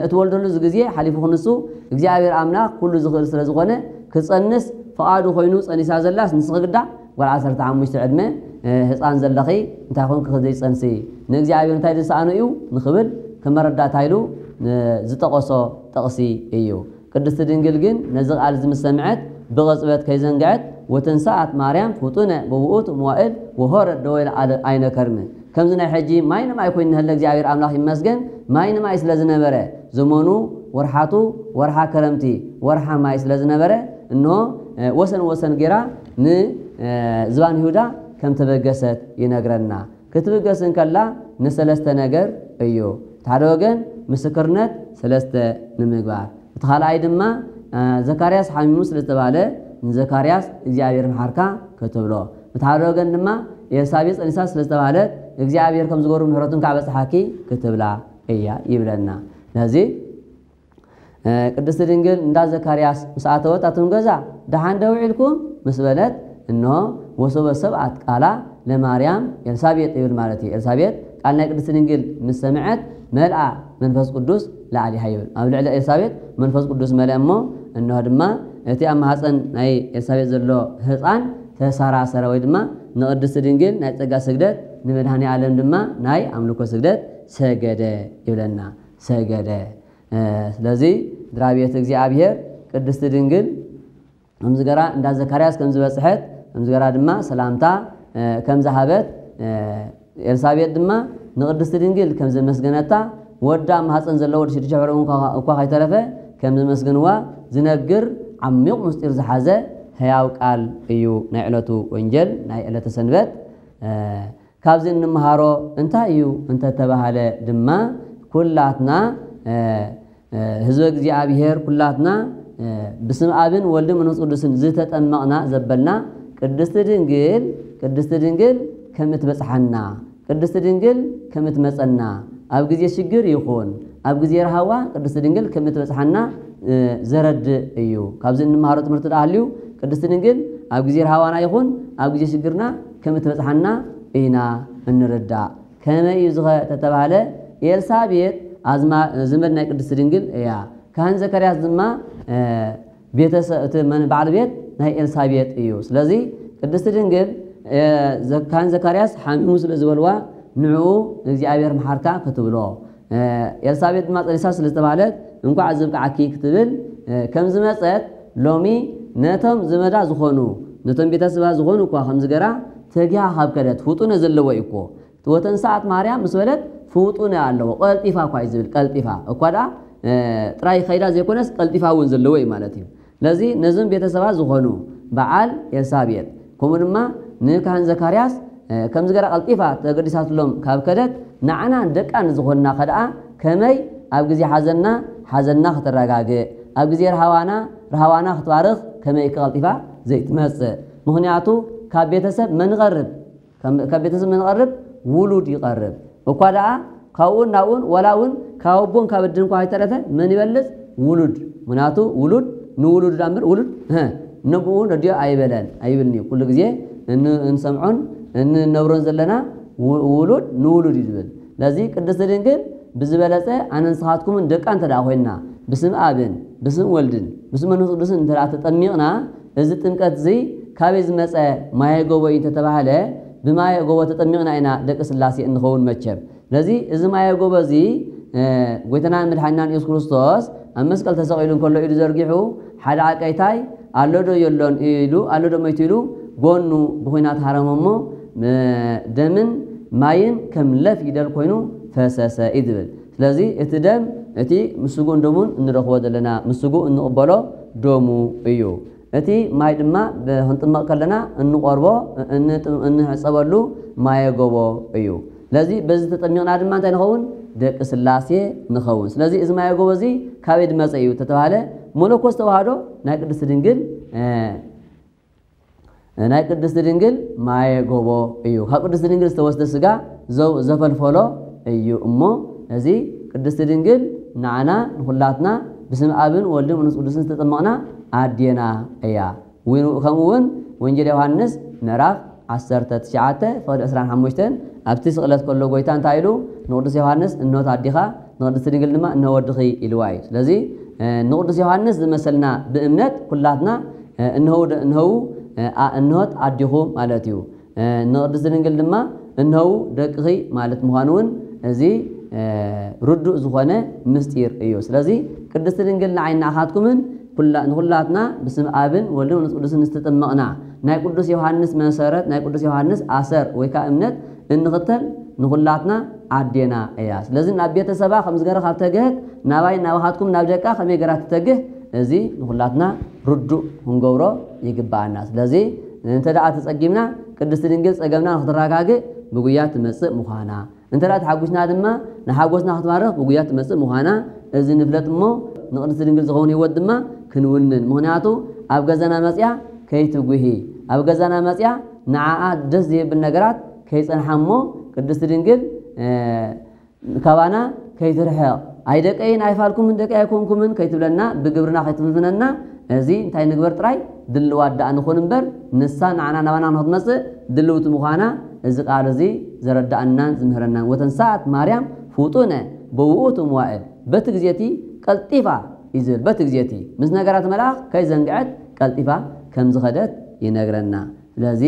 እትወልደሉ ግዜ ሓሊፉ ክንሱ እግዚኣብሔር ኣምላኽ ኩሉ ዝኽእል ስለ ዝኾነ ክጸንስ ፍቓዱ ኮይኑ ጸኒሳ ዘላስ ንስኺ ግዳ ጓል ዓሰርተ ሓሙሽተ ዕድመ ህፃን ዘለኺ እንታይ ኮንክ ዘይጸንሲ ንእግዚኣብሔር እንታይ ዝሰኣኖ እዩ ንኽብል ከመረዳእታ ኢሉ ዝጠቐሶ ጥቕሲ እዩ። ቅድስቲ ድንግል ግን ነዚ ቃል እዚ ምስ ሰምዐት ብቕጽበት ከይዘንግዐት ወተንሰኣት ማርያም ፍጡነ በውኡት መዋእል ወሆረት ደወይለ ኣይነ ከርምን ከምዚ ናይ ሕጂ ማይ ንማይ ኮይኑ ንህለ እግዚኣብሔር ኣምላኽ ይመስገን። ማይ ንማይ ስለ ዝነበረ ዘመኑ ወርሓቱ ወርሓ ከረምቲ ወርሓ ማይ ስለ ዝነበረ እንሆ ወሰን ወሰን ጌራ ንዝባን ይሁዳ ከም ተበገሰት ይነግረና። ክትብገስ እንከላ ንሰለስተ ነገር እዩ። እቲ ሓደ ወገን ምስክርነት ሰለስተ ንምግባር፣ እቲ ካልኣይ ድማ ዘካርያስ ሓሚሙ ስለ ዝተባህለ ንዘካርያስ እግዚኣብሔር መሓርካ ክትብሎ፣ እቲ ሓደ ወገን ድማ ኤልሳቤጥ ጸኒሳ ስለ ዝተባህለት እግዚኣብሔር ከም ዝገብሩ ምሕረቱን ከዓ በጽሓኪ ክትብላ እያ ይብለና። ነዚ ቅድስቲ ድንግል እንዳ ዘካርያስ ምስ ኣተወት ኣቱም ገዛ ደሓን ዶ ውዒልኩም ምስ በለት እንሆ ወሶበ ሰብኣት ቃላ ለማርያም ኤልሳቤጥ ይብል ማለት እዩ። ኤልሳቤጥ ቃል ናይ ቅድስቲ ድንግል ምስ ሰምዐት መልኣ መንፈስ ቅዱስ ላዕሊሃ ይብል። ኣብ ልዕሊ ኤልሳቤጥ መንፈስ ቅዱስ መልአ እሞ እንሆ ድማ እቲ ኣብ ማህፀን ናይ ኤልሳቤጥ ዘሎ ህፃን ተሰራሰረ ወይ ድማ ንቅድስቲ ድንግል ናይ ጸጋ ስግደት ንመድኃኔ ዓለም ድማ ናይ ኣምልኮ ስግደት ሰገደ ይብለና። ሰገደ ስለዚ ድራቤት እግዚኣብሔር ቅድስቲ ድንግል ከምዝገራ እንዳ ዘካርያስ ከምዝበጽሐት ከምዝገራ ድማ ሰላምታ ከምዝሃበት ኤልሳቤጥ ድማ ንቅድስቲ ድንግል ከምዘመስገነታ ወዳ ማህፀን ዘለዎ ሽዱሽተ ሕርኡ እኳ ከይተረፈ ከምዘመስገንዋ ዝነግር ዓሚቕ ምስጢር ዝሓዘ ሕያው ቃል እዩ ናይ ዕለቱ ወንጀል ናይ ዕለተ ሰንበት። ካብዚ እንምሃሮ እንታይ እዩ እንተተባህለ ድማ ኩላትና ህዝበ እግዚኣብሔር ኩላትና ብስም ኣብን ወልድን መንፈስ ቅዱስን ዝተጠመቕና ዘበልና ቅድስቲ ድንግል ቅድስቲ ድንግል ከም እትበጽሓና ቅድስቲ ድንግል ከም እትመጸና ኣብ ግዜ ሽግር ይኹን ኣብ ግዜ ረሃዋ ቅድስቲ ድንግል ከም እትበጽሓና ዘረድእ እዩ። ካብዚ እንምሃሮ ትምህርቲ ደኣ ሃልዩ ቅድስቲ ድንግል ኣብ ግዜ ረሃዋና ይኹን ኣብ ግዜ ሽግርና ከም እትበጽሓና ኢና እንርዳእ። ከመይ እዩ ዝኸ ተተባህለ ኤልሳቤጥ ኣዝማ ዘመድ ናይ ቅድስቲ ድንግል እያ። ካህን ዘካርያስ ድማ ቤተሰብ እቲ በዓል ቤት ናይ ኤልሳቤጥ እዩ። ስለዚ ቅድስቲ ድንግል ካህን ዘካርያስ ሓሚሙ ስለ ዝበልዋ ንዕኡ እግዚኣብሔር መሓርካ ክትብሎ ኤልሳቤጥ ድማ ጸኒሳ ስለ ዝተባህለት እንኳዕ ዝብቅዓኪ ክትብል ከም ዝመጸት ሎሚ ነቶም ዘመዳ ዝኾኑ ነቶም ቤተሰባ ዝኾኑ እኳ ከም ዝገራ ተጊሃ ካብ ከደት ፍጡነ ዘለዎ እዩ እኮ ወተንሰኣት ማርያም ምስ በለት ፍጡነ ኣለዎ ቀልጢፋ እኳ እዩ ዝብል ቀልጢፋ እኳ ደኣ ጥራይ ከይዳ ዘይኮነስ ቀልጢፋ እውን ዘለዎ እዩ ማለት እዩ። ስለዚ ነዞም ቤተሰባ ዝኾኑ በዓል ኤልሳቤጥ ከምኡ ድማ ንካህን ዘካርያስ ከም ዝገራ ቀልጢፋ ተገዲሳትሎም ካብ ከደት ንዓና ደቃ ንዝኾንና ከደኣ ከመይ ኣብ ግዜ ሓዘንና ሓዘንና ከተረጋግእ ኣብ ግዜ ረሃዋና ረሃዋና ክትባርኽ ከመይ ቀልጢፋ ዘይትመጽእ ምኽንያቱ ካብ ቤተሰብ መን ይቐርብ ካብ ቤተሰብ መን ይቐርብ ውሉድ ይቐርብ እኳ ደኣ ካብኡን ናብኡን ወላ እውን ካብ ኣቦን ካብ ኣድን እኳ ከይተረፈ መን ይበልፅ ውሉድ ምክንያቱ ውሉድ ንውሉድ ዳ እምበር ውሉድ ነብኡ ነዲኦ ኣይበለን ኣይብልን እዩ ኩሉ ግዜ እንሰምዖን እንነብሮን ዘለና ውሉድ ንውሉድ እዩ ዝብል ስለዚ ቅድስቲ ድንግል ብዝበለፀ ኣነ ንስኻትኩምን ደቃ እንተ ደኣ ኮይንና ብስም ኣብን ብስም ወልድን ብስም መንፈስ ቅዱስን እንተ ደኣ ተጠሚቕና እዚ ጥምቀት እዚ ካበይ ዝመፀ ማየ ጎቦ እዩ እንተተባህለ ብማየ ጎቦ ተጠሚቕና ኢና ደቂ ስላሴ እንኸውን መቸም ስለዚ እዚ ማየ ጎቦ እዚ ጎይታናን መድሓኒናን የሱስ ክርስቶስ ኣብ መስቀል ተሰቒሉ እንከሎ ኢዱ ዘርጊሑ ሓደ ዓቀይታይ ኣሎ ዶ የሎን ኢሉ ኣሎ ዶ መይቱ ኢሉ ጎኑ ብኹናት ሃረሞ እሞ ደምን ማይን ከም ለፍ ይደል ኮይኑ ፈሰሰ እዩ ዝብል። ስለዚ እቲ ደም እቲ ምስ ስጉእን ደሙን እንረኽቦ ዘለና፣ ምስ ስጉእ እንቕበሎ ደሙ እዩ። እቲ ማይ ድማ ብ-፣ ክንጥመቕ ከለና እንቆርቦ፣ እን-፣ እንሕጸበሉ ማየ ጎቦ እዩ። ስለዚ በዚ ተጠሚቕና ድማ እንታይ ንኸውን? ደቂ ስላሴ ንኸውን። ስለዚ እዚ ማየ ጎቦ እዚ ካበይ ዝመጸ እዩ ተተባሃለ፣ መለኮስ ተዋህዶ ናይ ቅድስቲ ድንግል፣ እ፣ ናይ ቅድስቲ ድንግል ማየ ጎቦ እዩ። ካብ ቅድስቲ ድንግል ዝተወስደ ስጋ ዘው-፣ ዘፈልፈሎ እዩ። እሞ እዚ ቅድስቲ ድንግል ንዓና ንኹላትና ብስም ኣብን ወልድን መንፈስ ቅዱስን ዝተጠመቕና ኣዴና እያ። ውን-፣ ከምኡ እውን ወንጌል ዮሃንስ ምዕራፍ ዓሰርተ ትሽዓተ ፍቕዲ ዕስራን ሓሙሽተን ኣብቲ ስቕለት ከሎ ጎይታ እንታይ ኢሉ ንቅዱስ ዮሃንስ? "እንሆት ኣዲኻ፣ ንቅድስቲ ድንግል ድማ እንሆ ወድኺ" ኢልዋ እዩ። ስለዚ፣ እ፣ ንቅዱስ ዮሃንስ ዝመሰልና ብእምነት ኩላትና፣ እ፣ እንሆው ደ-፣ እንሆው፣ እ፣ ኣ-፣ እንሆት ኣዲኹ ማለት እዩ። እ፣ ንቅድስቲ ድንግል ድማ እንሆው ደቅኺ ማለት ምዃኑ እውን እዚ፣ እ፣ ርዱእ ዝኾነ ምስጢር እዩ። ስለዚ ቅድስቲ ድንግል ንዓይን ንኣኻትኩምን ኩላ-፣ ንኹላትና ብስም ኣብን ወልድን መንፈስ ቅዱስን ዝተጠመቕና ናይ ቅዱስ ዮሃንስ መሰረት፣ ናይ ቅዱስ ዮሃንስ ኣሰር ወይ ከዓ እምነት እንኽተል ንኹላትና ኣዴና እያ። ስለዚ ናብ ቤተሰባ ከም ዝገረ ካብ ተግህት ናባይ ናባኻትኩም ናብ ደቃ ከመይ ገራ ትተግህ? እዚ ንኹላትና ርዱእ ክንገብሮ ይግባኣና። ስለዚ እንተ ደኣ ተጸጊምና ቅድስቲ ድንግል ጸገምና ንክትረጋግእ ብጉያ ትመጽእ ምዃና፣ እንተ ደኣ ተሓጒስና ድማ ንሓጎስና ክትባርኽ ብጉያ ትመጽእ ምዃና እዚ ንፍለጥ እሞ ንቅድስቲ ድንግል ዝኸውን ህይወት ድማ ክንውንን። ምኽንያቱ ኣብ ገዛና መጽያ ከይትጉሂ፣ ኣብ ገዛና መጽያ ንዓኣ ደስ ዘይብል ነገራት ከይጸንሓ እሞ ቅድስቲ ድንግል፣ እ፣ ካባና ከይትርሕቕ፣ "ኣይ ደቀይን ኣይፋልኩምን ደቀይ ኣይኮንኩምን" ከይትብለና፣ ብግብርና ከይትፍንፍነና፣ እዚ እንታይ ንግበር ጥራይ? ድልዋት ደኣ ንኹን እምበር፣ ንሳ ንዓና ናባና ንክትመጽእ ድልውቲ ምዃና እዚ ቃል እዚ ዘረድኣናን ዝምህረናን። "ወተንሳኣት ማርያም ፍጡነ በውእቱ መዋእል" በቲ ግዜ እቲ ቀልጢፋ እዩ ዝብል። በቲ ግዜ እቲ ምስ ነገራት መልኣኽ ከይዘንግዐት ቀልጢፋ ከም ዝኸደት ይነግረና። ስለዚ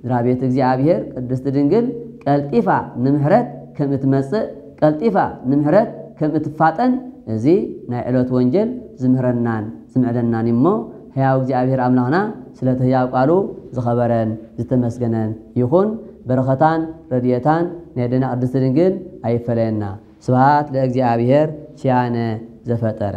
ድራቤት እግዚኣብሔር ቅድስቲ ድንግል ቀልጢፋ ንምሕረት ከም እትመጽእ፣ ቀልጢፋ ንምሕረት ከም እትፋጠን እዚ ናይ ዕለት ወንጌል ዝምህረናን ዝምዕደናን እሞ፣ ሕያው እግዚኣብሔር ኣምላኽና ስለቲ ሕያው ቃሉ ዝኸበረን ዝተመስገነን ይኹን። በረኸታን ረድኤታን ናይ ኣዴና ቅድስቲ ድንግል ኣይፈለየና። ስብሐት ለእግዚኣብሔር ኪያነ ዘፈጠረ።